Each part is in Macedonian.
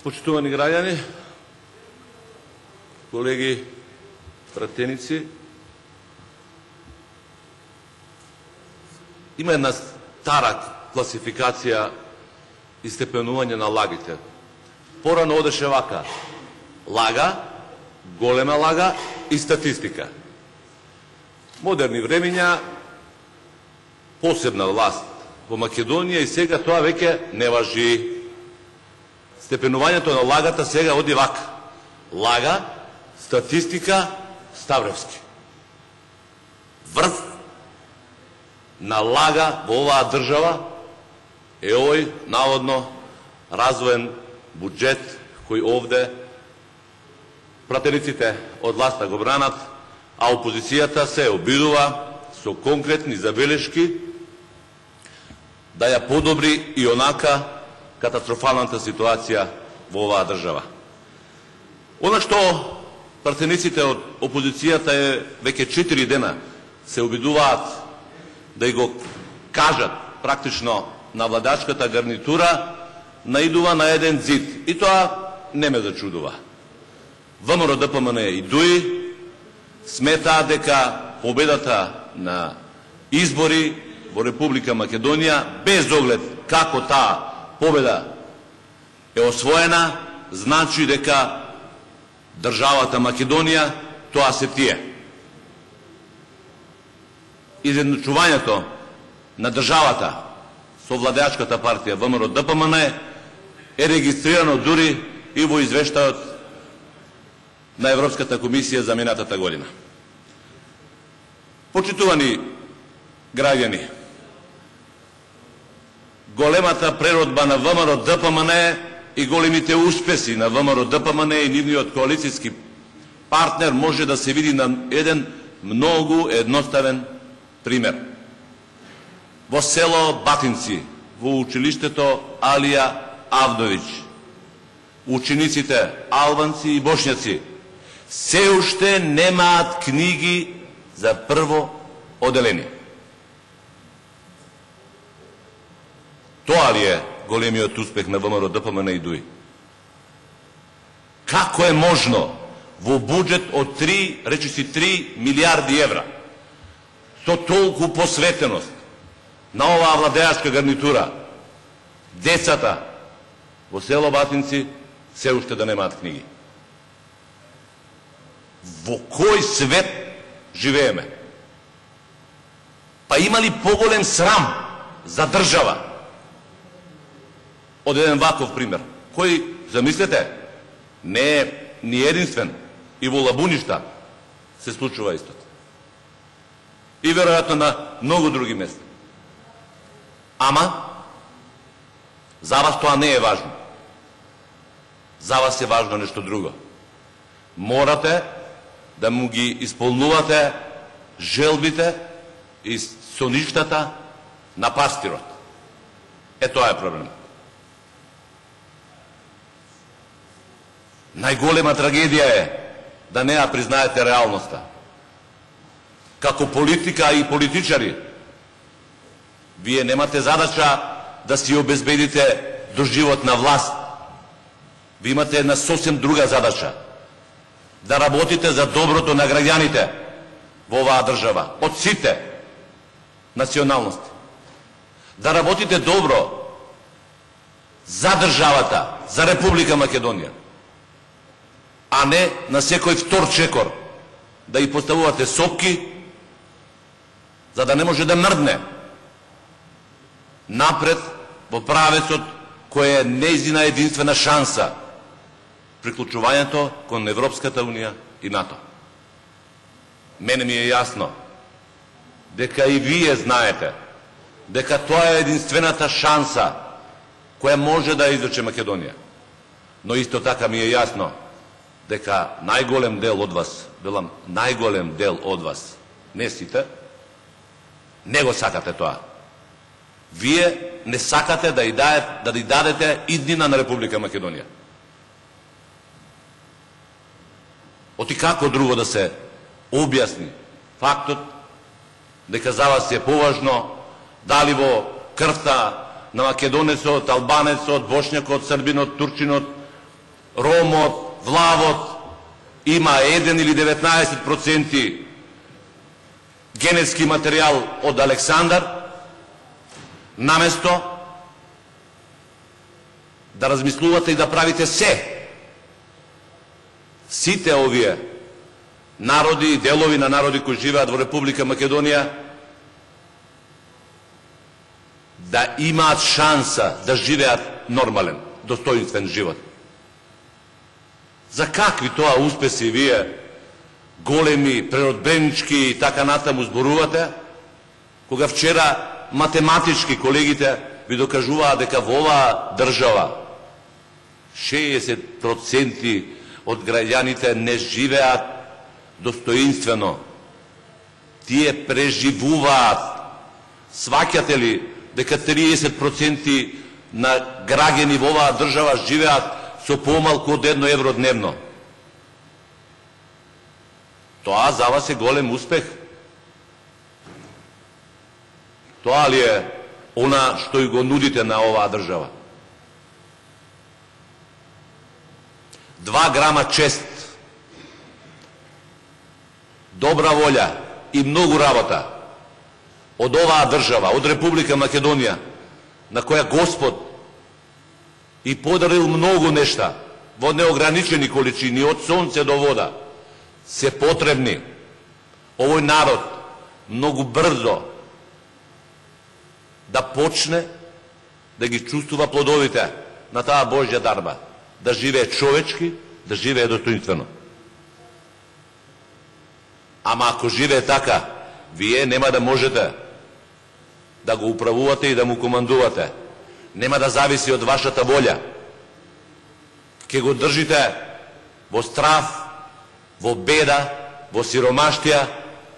Почитувани граѓани, колеги, пратеници, има една стара класификација и степенување на лагите. Порано одеше вака: лага, голема лага и статистика. Модерни времења, посебна власт во Македонија и сега тоа веќе не важи. Степенувањето на лагата сега оди вака: лага, статистика, Ставревски. Врв на лага во оваа држава е овој наводно развоен буџет кој овде пратениците од власта го бранат, а опозицијата се обидува со конкретни забелешки да ја подобри и онака катастрофалната ситуација во оваа држава. Она што пратениците од опозицијата веќе 4 дена се обидуваат да го кажат практично на владачката гарнитура, наидува на еден зид. И тоа не ме зачудува. ВМРО ДПМН и ДУИ сметаат дека победата на избори во Република Македонија, без оглед како таа победа е освоена, значи дека државата Македонија тоа се тие. Изедначувањето на државата со владеачката партија ВМРО ДПМН е регистрирано дури и во извештајот на Европската комисија за минатата година. Почитувани граѓани, големата преродба на ВМРО ДПМН и големите успеси на ВМРО ДПМН и нивниот коалицијски партнер може да се види на еден многу едноставен пример. Во село Батинци, во училиштето Алија Авдовиќ, учениците албанци и бошњаци се уште немаат книги за прво оделение. Тоа ли е големиот успех на ВМРО ДПМН и ДУИ? Како е можно во буџет од 3 милиарди евра, со толку посветеност на оваа владеачка гарнитура, децата во село Батинци се уште да немаат книги? Во кој свет живееме? Па има ли поголем срам за држава од еден ваков пример, кој, замислете, не е ни единствен, и во Лабуништа се случува истото. И веројатно на многу други места. Ама, за вас тоа не е важно. За вас е важно нешто друго. Морате да му ги исполнувате желбите и соништата на пастирот. Е, тоа е проблем. Најголема трагедија е да не ја признаете реалноста. Како политика и политичари, вие немате задача да си обезбедите доживотна власт. Ви имате една сосем друга задача. Да работите за доброто на граѓаните во оваа држава, од сите националности. Да работите добро за државата, за Република Македонија, а не на секој втор чекор да и поставувате сопки, за да не може да мрдне напред во правецот кој е нејзина единствена шанса, приклучувањето кон Европската Унија и НАТО. Мене ми е јасно дека и вие знаете дека тоа е единствената шанса која може да извлече Македонија. Но исто така ми е јасно дека најголем дел од вас, велам најголем дел од вас, не сите, не го сакате тоа. Вие не сакате да ја дадете иднина на Република Македонија. Оти како друго да се објасни фактот дека за вас е поважно дали во крвта на македонецот, албанецот, бошњакот, србинот, турчинот, ромот, влавот има 1 или 19% генетски материјал од Александар, наместо да размислувате и да правите сите овие народи и делови на народи кои живеат во Република Македонија да имаат шанса да живеат нормален, достоинствен живот. За какви тоа успеси вие големи, преродбенички и така натаму зборувате, кога вчера математички колегите ви докажуваа дека во оваа држава 60% од граѓаните не живеат достоинствено. Тие преживуваат. Сваќате ли дека 30% на граѓани во оваа држава живеат со помалку од 1 евро дневно? Тоа за вас е голем успех. Тоа ли е она што и го нудите на оваа држава? 2 грама чест, добра волја и многу работа од оваа држава, од Република Македонија, на која Господ и подарил многу нешта во неограничени количини, од сонце до вода, се потребни. Овој народ многу брзо да почне да ги чувствува плодовите на таа Божја дарба, да живее човечки, да живее достоинствено. Ама ако живее така, вие нема да можете да го управувате и да му командувате. Нема да зависи од вашата волја. Ке го држите во страф, во беда, во сиромаштија,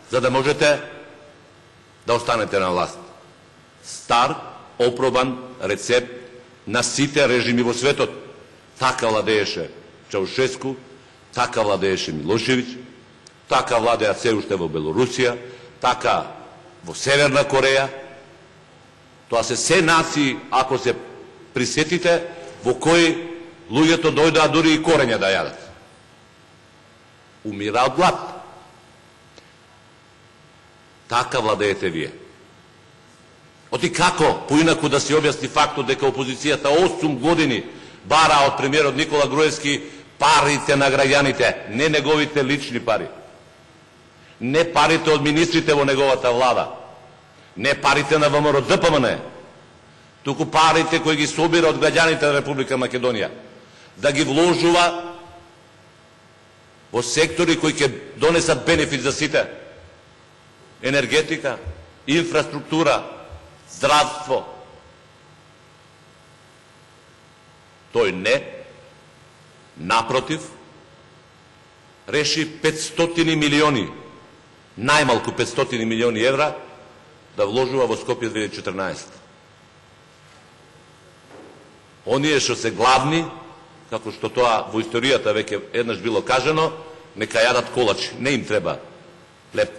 за да можете да останете на власт. Стар, опробан рецепт на сите режими во светот. Така владееше Чаушеску, така владееше Милошевиќ, така владеат се уште во Белорусија, така во Северна Кореја. Тоа се нации, ако се присетите, во кои луѓето дојдоа дури и корења да јадат. Умира од глад. Така владеете вие. Оти како поинаку да се објасни фактот дека опозицијата 8 години бара од премиерот Никола Груевски парите на граѓаните, не неговите лични пари, не парите од министрите во неговата влада, не парите на ВМРО-ДПМН, туку парите кои ги собира од граѓаните на Република Македонија, да ги вложува во сектори кои ќе донесат бенефит за сите. Енергетика, инфраструктура, здравство. Тој не, напротив, реши 500 милиони, најмалку 500 милиони евра да вложува во Скопје 2014. Оние што се главни, како што тоа во историјата веќе еднаш било кажано, нека јадат колачи, не им треба леп.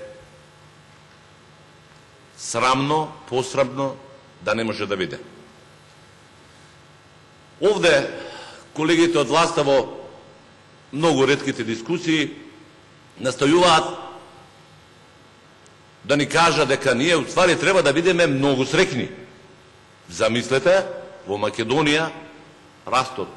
Срамно, посрамно, да не може да биде. Овде колегите од власта во многу ретките дискусии настојуваат да ни кажа дека ние уствари треба да бидеме многу среќни. Замислете, во Македонија растот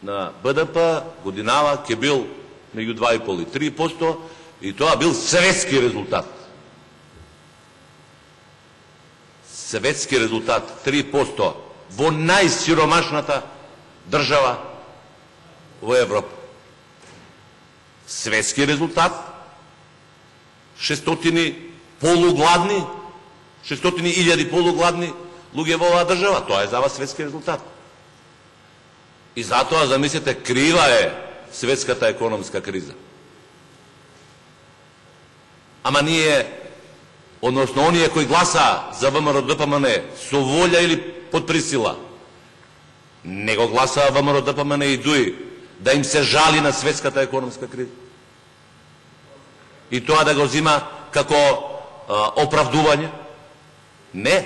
на БДП годинава ќе бил меѓу 2,5 и 3%, и тоа бил светски резултат. Светски резултат 3% во најсиромашната држава во Европа. Светски резултат, 600 полугладни, 600.000 полугладни луѓе во оваа држава. Тоа е за вас светски резултат. И затоа, замислете, крива е светската економска криза. Ама ние, односно оние кои гласа за ВМРО-ДПМН со волја или под присила, не го гласаа ВМРО-ДПМН и ДУИ да им се жали на светската економска криза. И тоа да го зима како оправдување. Не.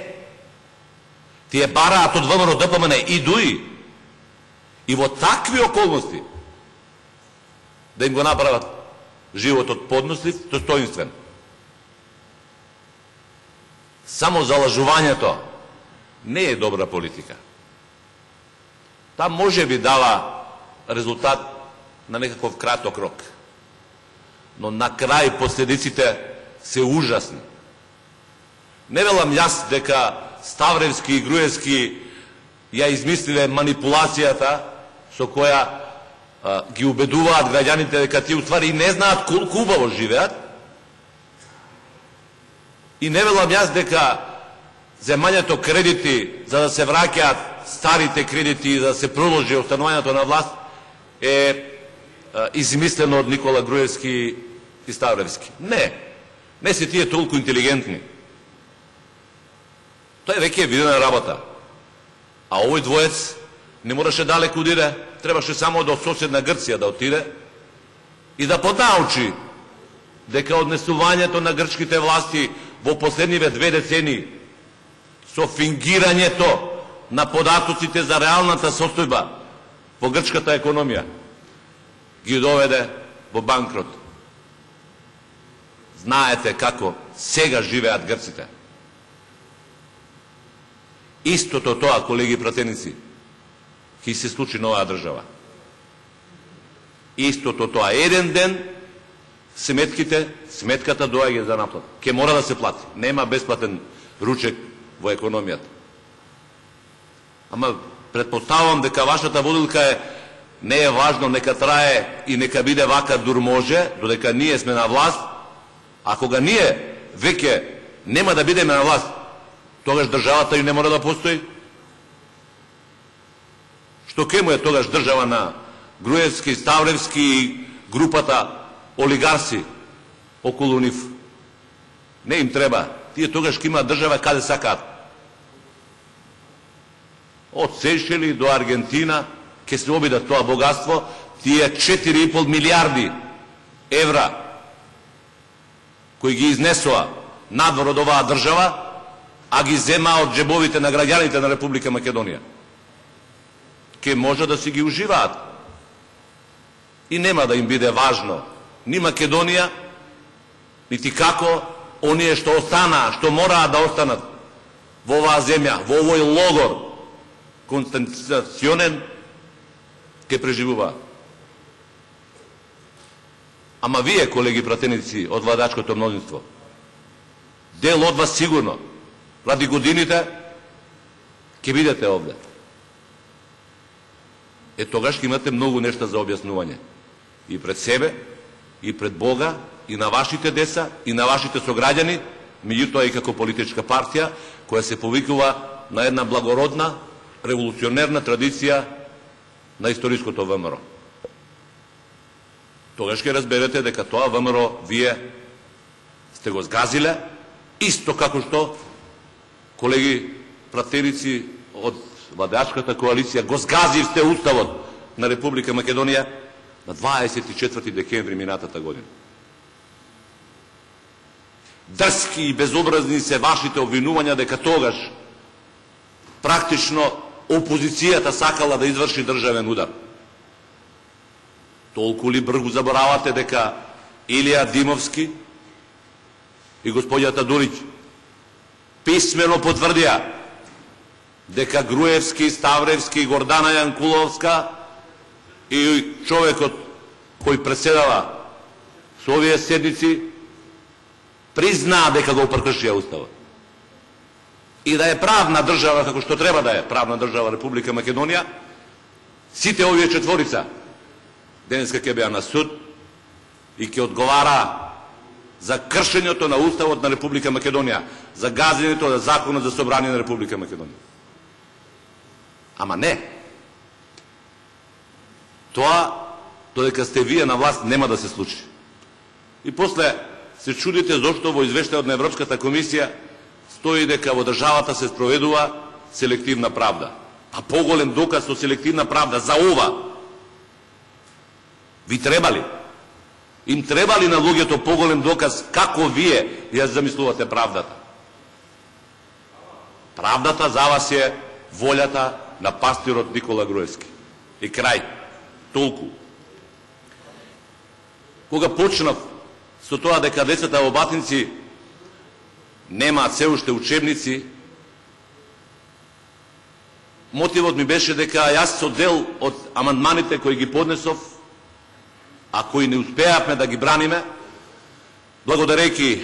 Тие бараат од ВМРО-ДПМН и ДУИ и во такви околности да им го направат животот поднослив, достоинствен. Само залажувањето не е добра политика. Та може би дава резултат на некаков краток рок, но на крај последиците се ужасни. Не велам јас дека Ставревски и Груевски ја измислиле манипулацијата со која ги убедуваат граѓаните дека тие уствари не знаат колку убаво живеат. И не велам јас дека земањето кредити за да се враќаат старите кредити и да се продолжи останувањето на власт е измислено од Никола Груевски и Ставревски. Не се тие толку интелигентни. Тоа е веќе видена работа. А овој двоец не мораше далеко да иде, требаше само до соседна Грција да отиде и да понаучи дека однесувањето на грчките власти во последниве 2 децении со фингирањето на податоците за реалната состојба во грчката економија ги доведе во банкрот. Знаете како сега живеат грците. Истото тоа, колеги пратеници, ќе се случи на оваа држава. Истото тоа. Еден ден сметката доаѓа за наплата. Ке мора да се плати. Нема бесплатен ручек во економијата. Ама предпоставувам дека вашата водилка е не е важно, нека трае и нека биде вака дур може, додека ние сме на власт. А кога ние веќе нема да бидеме на власт, тогаш државата и не мора да постои. Што ке му е тогаш држава на Груевски, Ставревски и групата олигарси околу нив? Не им треба. Тие тогаш ке имаат држава каде сакаат. Од Сејшели до Аргентина ке се обидат тоа богатство, тие 4,5 милиарди евра кои ги изнесоа надвор од оваа држава, а ги зема од джебовите на граѓаните на Република Македонија. Ке може да си ги уживаат. И нема да им биде важно ни Македонија, нити како оние што останаа, што мораат да останат во оваа земја, во овој логор концентрационен, ке преживуваат. Ама вие, колеги пратеници од владачкото мнозинство, дел од вас сигурно, ради годините, ќе бидете овде. Тогаш ќе имате многу нешта за објаснување. И пред себе, и пред Бога, и на вашите деца, и на вашите сограѓани, меѓутоа и како политичка партија, која се повикува на една благородна, револуционерна традиција на историското ВМРО. Тогаш ќе разберете дека тоа ВМРО вие сте го згазиле, исто како што колеги пратеници од владачката коалиција го згазивте Уставот на Република Македонија на 24 декември минатата година. Дрски и безобразни се вашите обвинувања дека тогаш практично опозицијата сакала да изврши државен удар. Толку ли бргу заборавате дека Илија Димовски и господјата Дулиќ писмено потврдија дека Груевски, Ставревски, Гордана Јанкуловска и човекот кој преседава со овие седници признаа дека го прекршија Уставот. И да е правна држава, како што треба да е правна држава Република Македонија, сите овие четворица денеска ќе беа на суд и ќе одговара за кршењето на Уставот на Република Македонија, за газењето на Законот за собрание на Република Македонија. Ама не. Тоа, додека сте вие на власт, нема да се случи. И после се чудите зошто во извештајот на Европската комисија стои дека во државата се спроведува селективна правда. А поголем доказ со селективна правда за ова ви требали? Им требали на луѓето поголем доказ како вие ја замислувате правдата? Правдата за вас е волјата на пастирот Никола Груевски. И крај. Толку. Кога почнав со тоа дека децата во Батинци немаат се уште учебници, мотивот ми беше дека јас со дел од амандманите кои ги поднесов, а кои не успеавме да ги браниме, благодарејќи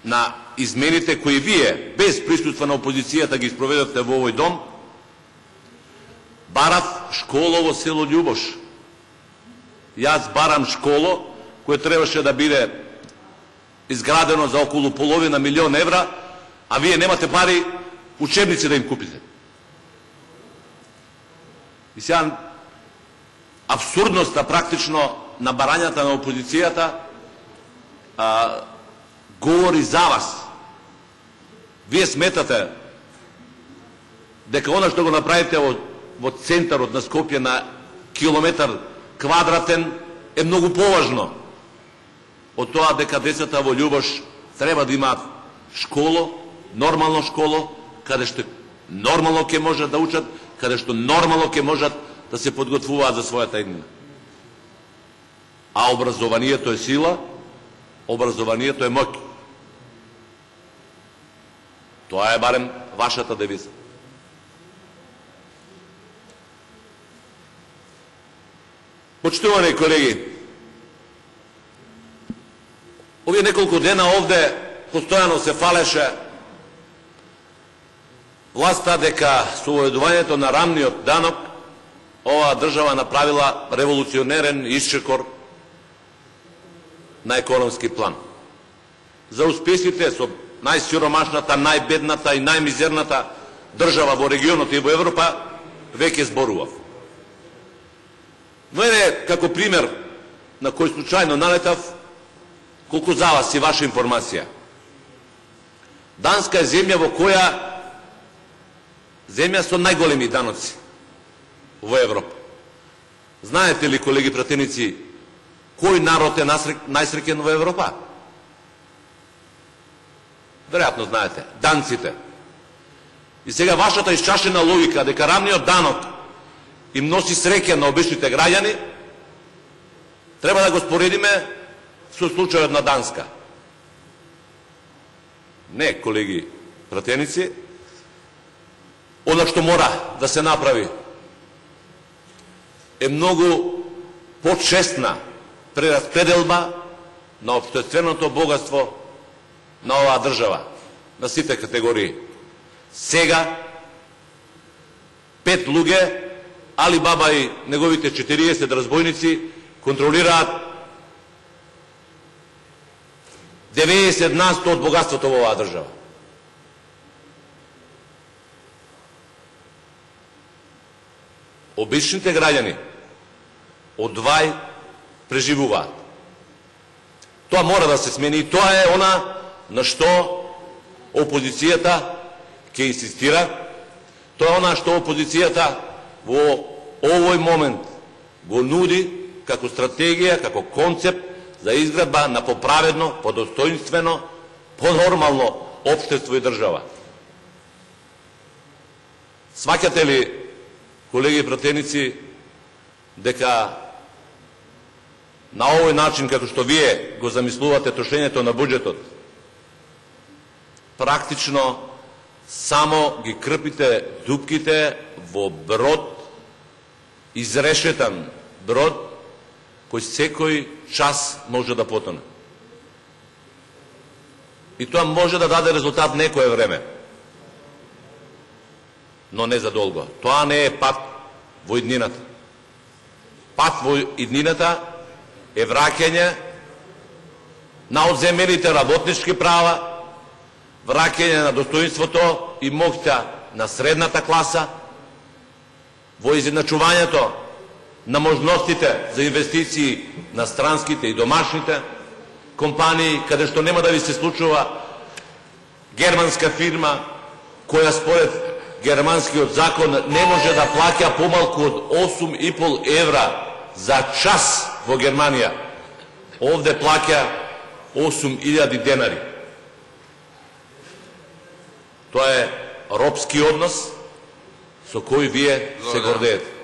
на измените кои вие, без присуство на опозицијата, ги спроведовте во овој дом, барав школа во село Љубош. Јас барам школо кој требаше да биде изградено за околу половина милион евра, а вие немате пари учебници да им купите. И сега абсурдноста практично на барањата на опозицијата говори за вас. Вие сметате дека она што го направите во центарот на Скопје на километар квадратен е многу поважно од тоа дека децата во Љубош треба да имаат школо, нормално школо, каде што нормално ќе можат да учат, каде што нормално ќе можат да се подготвуваат за својата иднина. А образованието е сила, образованието е моќ. Тоа е барем вашата девиза. Почитувани колеги, овие неколку дена овде постојано се фалеше власта дека со уведувањето на рамниот данок оваа држава направила револуционерен исчекор на економски план. За успесите со најсиромашната, најбедната и најмизерната држава во регионот и во Европа веќе зборував. Но е како пример на кој случајно налетав, колку за вас и ваша информација. Данска е земја во која земја со најголеми даноци во Европа. Знаете ли, колеги пратеници, кој народ е најсреќен во Европа? Веројатно знаете, данците. И сега вашата исчашена логика дека рамниот данок им носи среќа на обичните граѓани, треба да го споредиме со случајот на Данска. Не, колеги пратеници, она што мора да се направи е многу почестна прераспределба на општественото богатство на оваа држава, на сите категории. Сега 5 луѓе, Али Баба и неговите 40 разбойници, контролираат 90% од богатството во оваа држава. Обичните граѓани од двај преживуваат. Тоа мора да се смени и тоа е она на што опозицијата ќе инсистира. Тоа е она што опозицијата во овој момент го нуди како стратегија, како концепт за изградба на поправедно, подостоинствено, понормално општество и држава. Сваќате ли, колеги и пратеници, дека на овој начин, како што вие го замислувате трошењето на буџетот, практично само ги крпите дупките во брод, изрешетан брод, кој секој час може да потоне. И тоа може да даде резултат некое време, но не за долго. Тоа не е пат во иднината. Пат во иднината е враќање на одземените работнички права, враќање на достоинството и моќта на средната класа, во изедначувањето на можностите за инвестиции на странските и домашните компании, каде што нема да ви се случува германска фирма која според германскиот закон не може да плаќа помалку од 8,5 евра за час во Германија. Овде плаќа 8.000 денари. Тоа е робски однос со кој вие се гордеете.